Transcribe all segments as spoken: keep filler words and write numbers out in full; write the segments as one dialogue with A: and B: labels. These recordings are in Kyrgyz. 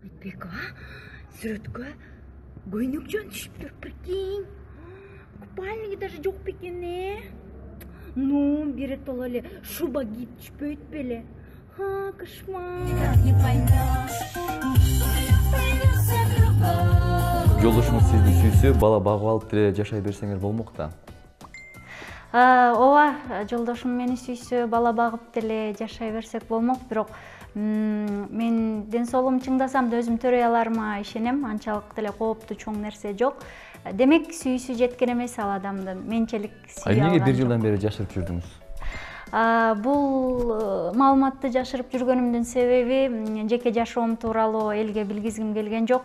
A: Айтбек, а? Сүрөткө көйнөк жөн түшүптүр, прикинь. Купальниги даже жок бекен, э? Ну, биротоло эле шуба кийип түшпөйт беле? Ха, кошмар.
B: Жолдошуңуз сизди сүйсө, бала багып алып деле жашай берсеңер болмок да.
C: Ооба, жолдошум мени сүйсө, бала багып деле жашай берсек болмок, бирок мен ден соолугум чыңдасам да өзүм төрөй аларыма ишенем, анчалык деле кооптуу чоң нерсе жок. Демек сүйүүсү жеткен эмес ал адамдын, менчелик сүйүү алган.
B: Эмнеге бир жылдан бери жашырып жүрдүңүз?
C: Бул маалыматты жашырып жүргөнүмдүн себеби жеке жашоом тууралуу элге билгизгим келген жок.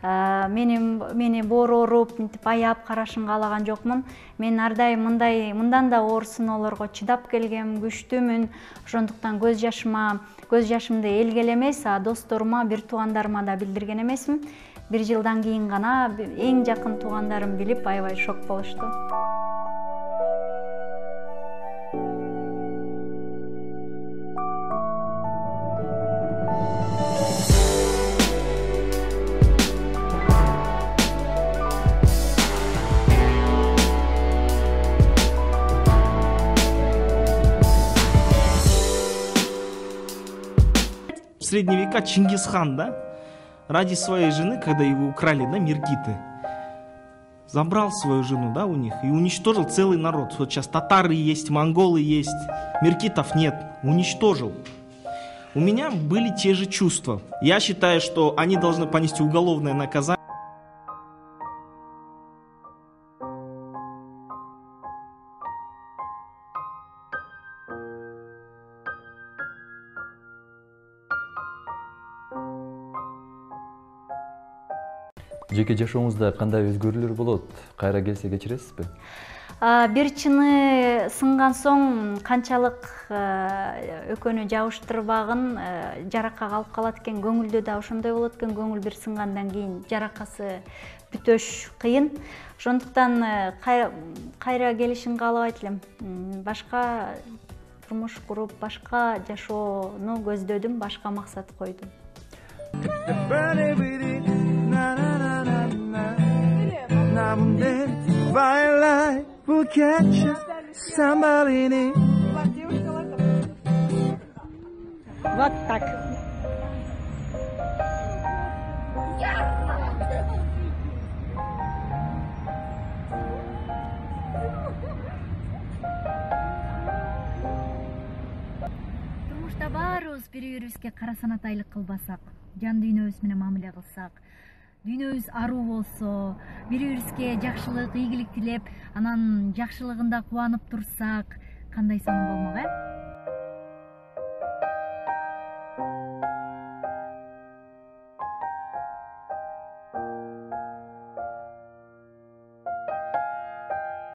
C: Мени мени боор ооруп, мынтип аяп карашын каалаган жокмун. Мен ар дайым мындай мындан да оор сыноолорго чыдап келгем, күчтүүмүн. Ошондуктан көз жашыма, көз жашымды элге эле эмес, досторума, бир туугандарыма да билдирген эмесмин. Бир жылдан кийин гана эң жакын туугандарым билип, аябай шок болушту.
D: В средние века Чингисхан, да, ради своей жены, когда его украли, да, Миргиты, забрал свою жену, да, у них и уничтожил целый народ. Вот сейчас татары есть, монголы есть, миргитов нет, уничтожил. У меня были те же чувства. Я считаю, что они должны понести уголовное наказание.
B: Жеке жашооңузда кандай өзгөрүүлөр болот? Кайра келсе кечиресизби?
C: Бир чыны сынган соң канчалык экөөнү жабыштырбагын жаракка калып калат экен, көңүлдө да ошондой болот экен. Көңүл бир сынгандан кийин жаракасы бүтөш кыйын. Ошондуктан кайра келишин каалабайт элем. Башка турмуш куруп, башка жашоону көздөдүм, башка максат койдум.
A: Вот так.
E: Турмушта баарыбыз бири-бирибизге кара санатайлык кылбасак, жан дүйнөбүз менен мамиле кылсак, дүйнөбүз аруу болсо, бири-бирибизге жакшылык, ийгилик тилеп, анан жакшылыгында кубанып турсак, кандай сонун болмок, э?